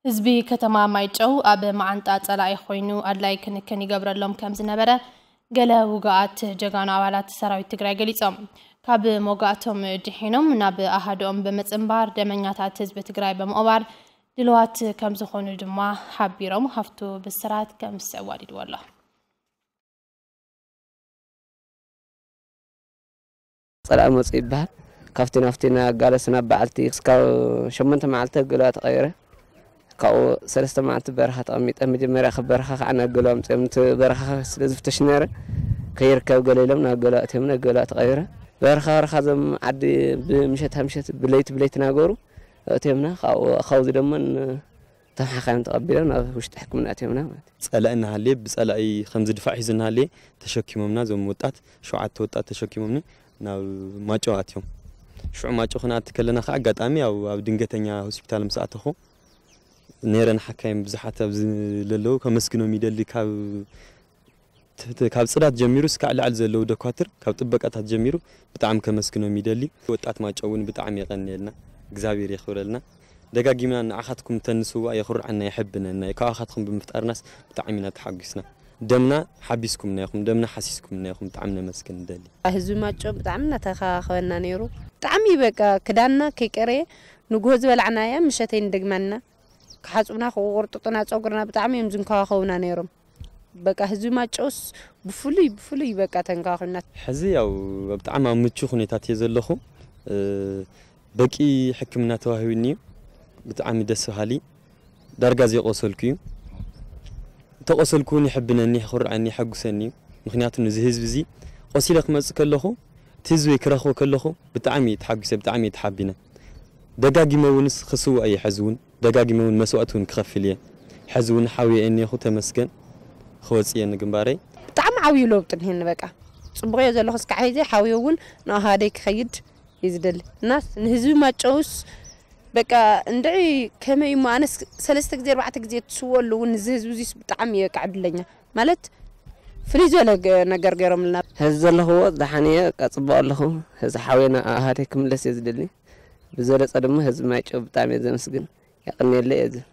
ህዝቢ ከተማ ማይጨው ኣብ መዓንጣ ጸላኢ ኮይኑ ኣድላይ ክንክን ይገብረሎም ከም ዝነበረ ገለ ውጉኣት ጀጋኑ ኣባላት ሰራዊት ትግራይ ገሊጾም። ካብ መውጋእቶም ድሒኖም ናብ ኣሃድኦም ብምጽንባር ደመኛታት ህዝቢ ትግራይ ብምቕባር ድልዋት ከም ዝኾኑ ድማ ሓቢሮም። ሃፍቱ ብስራት ከም ዝስዕብ ኣዋዲድዎ ኣሎ። ጸላኢ መጹ ይበሃል። ካብቲ ናብቲ እናጋለስ ናብ በዓልቲ ክስካብ ሸሞንተ መዓልቲ ኣገለዋ ተቐይረ። ካብኡ ሰለስተ መዓልቲ በረኻ ተቐሚጠ። መጀመርያ ካብ በረኻ ከዓ ናገለዋ ኣምፅኦም። እቲ በረኻ ስለ ዝፍተሽ ነረ ከይርከብ ገለ ኢሎም ናገለዋ እትዮም ናገለዋ ተቐይረ። በረኻ በረኻ ዞም ዓዲ ብምሸት ምሸት ብለይቲ ብለይቲ ናገሩ እትዮምና። ካብኡ ካብዚ ደሞ ተሓኻዮም ተቐቢሎም ናብ ውሽጢ ሕክምና እትዮምና ማለት እዩ። ጸላኢ እናሃለየ ብጸላኢ ከም ዝድፋዕ ሒዙ እናሃለየ ተሸኪሞምና። እዞም ወጣት ሸውዓተ ወጣት ተሸኪሞምኒ ናብ ማጨው ኣትዮም። ሽዑ ማጨው ክንኣቲ ከለና ከዓ ኣጋጣሚ ያው ኣብ ድንገተኛ ሆስፒታል ምስ ኣተኹ ነይረ። ንሓካይም ብዙሓት ኣብዚ ለለዉ ከመስግኖም ይደሊ። ካብ ትሕቲ ካብ ጽዳት ጀሚሩ እስካዕ ላዕሊ ዘለዉ ደኳትር ካብ ጥበቃታት ጀሚሩ ብጣዕሚ ከመስግኖም ይደሊ። ወጣት ማጨው እውን ብጣዕሚ የቐንየልና፣ እግዚኣብሔር የኽብረልና። ደጋጊምና ንዓኻትኩም ተንስዋ የኹርዓና የሐብነና እዩ። ካባኻትኩም ብምፍጣርናስ ብጣዕሚ ኢና ተሓጒስና። ደምና ሓቢስኩምና ኢኹም፣ ደምና ሓሲስኩምና ኢኹም፣ ብጣዕሚ ነመስግን ንደሊ። ህዝቢ ማጮ ብጣዕሚ እናተኸባኸበና ነይሩ። ብጣዕሚ በቃ ክዳንና ከይቀረየ ንግሆ ዝበላዕናያ ምሸተይ ንደግማና ክሓፅቡና ክቁርጥጡና ፀጉርና ብጣዕሚ እዮም ዝንከባኸቡና ነይሮም። በቃ ህዝቢ ማጨውስ ብፍሉይ ብፍሉይ በቃ ተንከባኺብና። ሕዚ ያው ብጣዕሚ ኣብ ምቹ ኩነታት እየ ዘለኹ። በቂ ሕክምና ተዋሂቡኒ እዩ። ብጣዕሚ ደስ በሃሊ ዳርጋ ዘይቆሰልኩ እዩ። እንተቆሰልኩ እውን የሕብነኒ፣ የኹርዐኒ፣ የሐጉሰኒ እዩ። ምክንያቱ ነዚ ህዝቢ እዚ ቆሲለ ክመፅእ ከለኹ እቲ ህዝበይ ክረኽቦ ከለኹ ብጣዕሚ እየ ተሓጒሰ፣ ብጣዕሚ እየ ተሓቢነ። ደጋጊመ እውንስ ክስዋእ እየ ሕዚ እውን። ደጋጊመ እውን መስዋእቲ እውን ክኸፍል እየ። ሕዚ እውን ሓውየ እየ እኒአኹ ተመስገን ክወፅእ እየ ንግንባረይ። ብጣዕሚ ዓብዩ ለውጢ እኒሀኒ በቃ ፅቡቕ እየ ዘለኹ እስካዕ ሕዚ ሓውየ እውን ንኣሃደይ ክኸይድ እዩ ዝደሊ እና ንህዝቢ ማጨውስ በቃ እንድዒ ከመይ እሞ ኣነስ ሰለስተ ግዜ ኣርባዕተ ግዜ ትስወሉ እውን እዚ ህዝቢ እዚስ ብጣዕሚ እየ በቃ ዕድለኛ ማለት ፍልይ ዝበለ ነገር ገይሮምልና። ሕዚ ዘለኽዎ ደሓን እየ በቃ ፅቡቕ ኣለኹ። ሕዚ ሓውየ ናብ ኣሃደይ ክምለስ እየ ዝደሊ። ብዝበለፀ ድማ ህዝቢ ማይጨው ብጣዕሚ እየ ዘመስግን። የቐንየለይ እየ ዝብል።